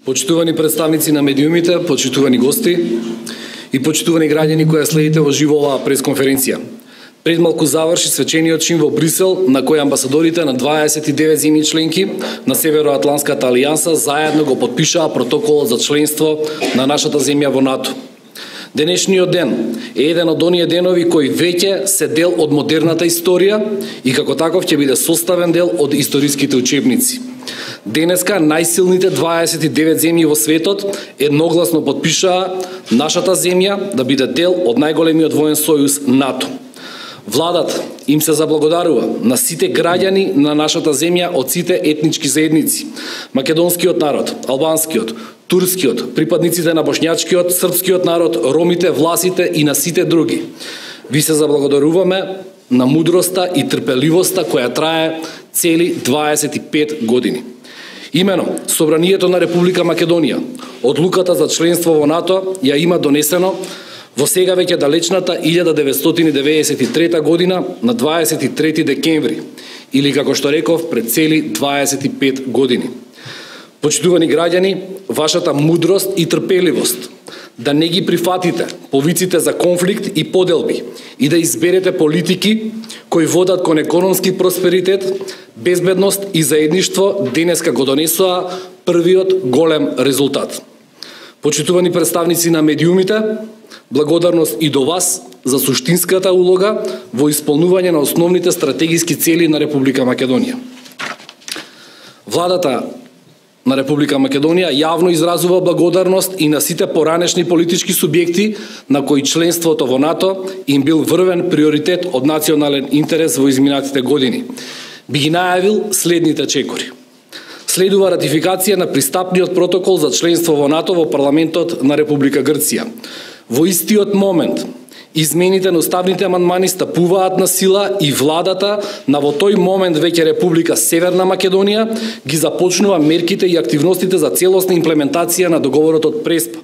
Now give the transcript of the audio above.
Почитувани представници на медиумите, почитувани гости и почитувани граѓани кои следите во живо оваа пресконференција. Пред малку заврши свечениот чин во Брисел, на кој амбасадорите на 29 земји членки на Североатланската алијанса заедно го потпишаа протоколот за членство на нашата земја во НАТО. Денешниот ден е еден од оние денови кои веќе се дел од модерната историја и како таков ќе биде составен дел од историските учебници. Денеска најсилните 29 земји во светот едногласно потпишаа нашата земја да биде дел од најголемиот воен сојуз НАТО. Владата им се заблагодарува на сите граѓани на нашата земја од сите етнички заедници, македонскиот народ, албанскиот, турскиот, припадниците на бошњачкиот, српскиот народ, ромите, власите и на сите други. Ви се заблагодаруваме на мудроста и трпеливоста која трае цели 25 години. Имено, Собранието на Република Македонија, одлуката за членство во НАТО ја има донесено во сега веќе далечната 1993 година на 23 декември, или како што реков, пред цели 25 години. Почитувани граѓани, вашата мудрост и трпеливост да не ги прифатите повиците за конфликт и поделби и да изберете политики кои водат кон економски просперитет, безбедност и заедништво денеска го донесоа првиот голем резултат. Почитувани представници на медиумите, благодарност и до вас за суштинската улога во исполнување на основните стратегиски цели на Република Македонија. Владата на Република Македонија јавно изразува благодарност и на сите поранешни политички субјекти на кои членството во НАТО им бил врвен приоритет од национален интерес во изминатите години. Би ги најавил следните чекори. Следува ратификација на пристапниот протокол за членство во НАТО во парламентот на Република Грција. Во истиот момент, измените на уставните амандмани стапуваат на сила и владата на во тој момент веќе Република Северна Македонија ги започнува мерките и активностите за целосна имплементација на договорот од Преспа.